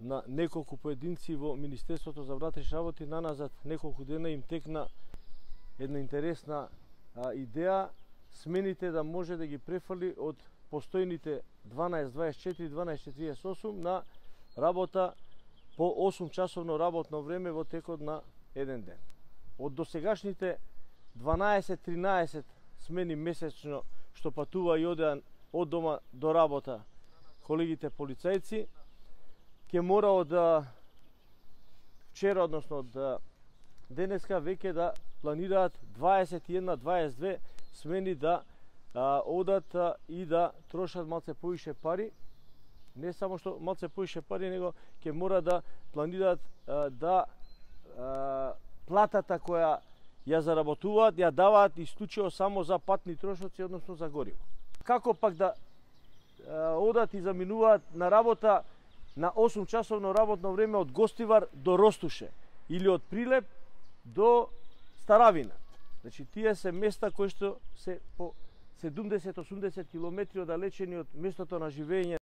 на неколку поединци во Министерството за внатрешни работи, наназад неколку дена им текна една интересна идеја смените да може да ги префали од постојните 12-24, 12-48 на работа по 8 часовно работно време во текот на еден ден. Од досегашните 12-13 смени месечно што патува и одеа од дома до работа колегите полицајци, ќе морао да вчера, односно да денеска веќе да планираат 21-22 смени да одат и да трошат малце повише пари. Не само што малце повише пари, него ќе мора да планираат да платата која ја заработуваат, ја даваат исклучиво само за патни трошоци, односно за гориво. Како пак да одат и заминуваат на работа на 8 часовно работно време од Гостивар до Ростуше или од Прилеп до Старавина. Значи, тие се места кои што се по 70-80 километри оддалечени од местото на живење